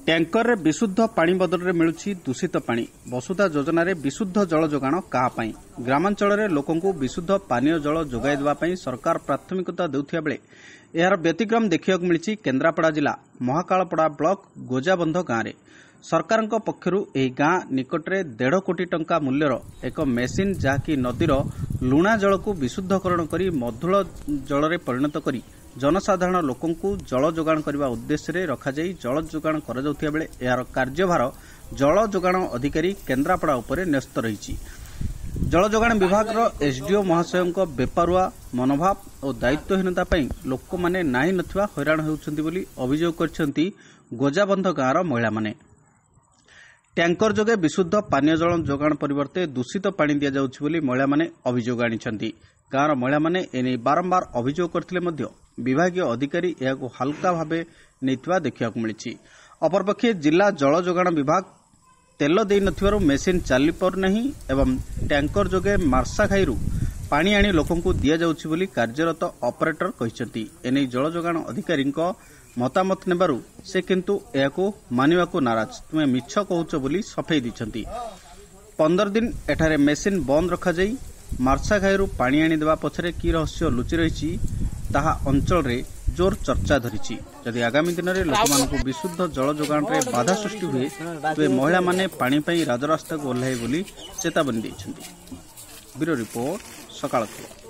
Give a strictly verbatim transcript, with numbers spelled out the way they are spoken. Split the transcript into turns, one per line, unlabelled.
ଟ୍ୟାଙ୍କରରେ ବିଶୁଦ୍ଧ ପାଣି ବଦଳରେ ମିଳୁଛି ଦୂଷିତ ପାଣି। ବସୁଧା ଯୋଜନାରେ ବିଶୁଦ୍ଧ ଜଳ ଯୋଗାଣ କାହା ପାଇଁ? ଗ୍ରାମାଞ୍ଚଳରେ ଲୋକଙ୍କୁ ବିଶୁଦ୍ଧ ପାନୀୟ ଜଳ ଯୋଗାଇ ଦେବା ପାଇଁ ସରକାର ପ୍ରାଥମିକତା ଦେଉଥିବା ବେଳେ ଏହାର ବ୍ୟତିକ୍ରମ ଦେଖିବାକୁ ମିଳିଛି କେନ୍ଦ୍ରାପଡ଼ା ଜିଲ୍ଲା ମହାକାଳପଡ଼ା ବ୍ଲକ ଗୋଜାବନ୍ଧ ଗାଁରେ। ସରକାରଙ୍କ ପକ୍ଷରୁ ଏହି ଗାଁ ନିକଟରେ ଦେଢ଼ କୋଟି ଟଙ୍କା ମୂଲ୍ୟର ଏକ ମେସିନ୍, ଯାହାକି ନଦୀର ଲୁଣା ଜଳକୁ ବିଶୁଦ୍ଧକରଣ କରି ମଧୁର ଜଳରେ ପରିଣତ କରି ଜନସାଧାରଣ ଲୋକଙ୍କୁ ଜଳ ଯୋଗାଣ କରିବା ଉଦ୍ଦେଶ୍ୟରେ ରଖାଯାଇ ଜଳ ଯୋଗାଣ କରାଯାଉଥିବା ବେଳେ ଏହାର କାର୍ଯ୍ୟଭାର ଜଳ ଯୋଗାଣ ଅଧିକାରୀ କେନ୍ଦ୍ରାପଡ଼ା ଉପରେ ନ୍ୟସ୍ତ ରହିଛି। ଜଳ ଯୋଗାଣ ବିଭାଗର ଏସ୍ଡିଓ ମହାଶୟଙ୍କ ବେପାରୁଆ ମନୋଭାବ ଓ ଦାୟିତ୍ୱହୀନତା ପାଇଁ ଲୋକମାନେ ନାହିଁ ନଥିବା ହଇରାଣ ହେଉଛନ୍ତି ବୋଲି ଅଭିଯୋଗ କରିଛନ୍ତି ଗୋଜାବନ୍ଧ ଗାଁର ମହିଳାମାନେ। ଟ୍ୟାଙ୍କର ଯୋଗେ ବିଶୁଦ୍ଧ ପାନୀୟ ଜଳ ଯୋଗାଣ ପରିବର୍ତ୍ତେ ଦୂଷିତ ପାଣି ଦିଆଯାଉଛି ବୋଲି ମହିଳାମାନେ ଅଭିଯୋଗ ଆଣିଛନ୍ତି। ଗାଁର ମହିଳାମାନେ ଏନେଇ ବାରମ୍ବାର ଅଭିଯୋଗ କରିଥିଲେ ମଧ୍ୟ ବିଭାଗୀୟ ଅଧିକାରୀ ଏହାକୁ ହାଲୁକା ଭାବେ ନେଇଥିବା ଦେଖିବାକୁ ମିଳିଛି। ଅପରପକ୍ଷେ ଜିଲ୍ଲା ଜଳ ଯୋଗାଣ ବିଭାଗ ତେଲ ଦେଇନଥିବାରୁ ମେସିନ୍ ଚାଲିପାରୁନାହିଁ ଏବଂ ଟ୍ୟାଙ୍କର ଯୋଗେ ମାର୍ଶାଘାଇରୁ ପାଣି ଆଣି ଲୋକଙ୍କୁ ଦିଆଯାଉଛି ବୋଲି କାର୍ଯ୍ୟରତ ଅପରେଟର କହିଛନ୍ତି। ଏନେଇ ଜଳ ଯୋଗାଣ ଅଧିକାରୀଙ୍କ ମତାମତ ନେବାରୁ ସେ କିନ୍ତୁ ଏହାକୁ ମାନିବାକୁ ନାରାଜ। ତୁମେ ମିଛ କହୁଛ ବୋଲି ସଫେଇ ଦେଇଛନ୍ତି। ପନ୍ଦର ଦିନ ଏଠାରେ ମେସିନ୍ ବନ୍ଦ ରଖାଯାଇ ମାର୍ଶାଘାଇରୁ ପାଣି ଆଣି ଦେବା ପଛରେ କି ରହସ୍ୟ ଲୁଚି ରହିଛି, ତାହା ଅଞ୍ଚଳରେ ଜୋର ଚର୍ଚ୍ଚା ଧରିଛି। ଯଦି ଆଗାମୀ ଦିନରେ ଲୋକମାନଙ୍କୁ ବିଶୁଦ୍ଧ ଜଳ ଯୋଗାଣରେ ବାଧା ସୃଷ୍ଟି ହୁଏ, ତେବେ ମହିଳାମାନେ ପାଣି ପାଇଁ ରାଜରାସ୍ତାକୁ ଓହ୍ଲାଇବେ ବୋଲି ଚେତାବନୀ ଦେଇଛନ୍ତି। ବ୍ୟୁରୋ ରିପୋର୍ଟ, ସକାଳ ଖବର।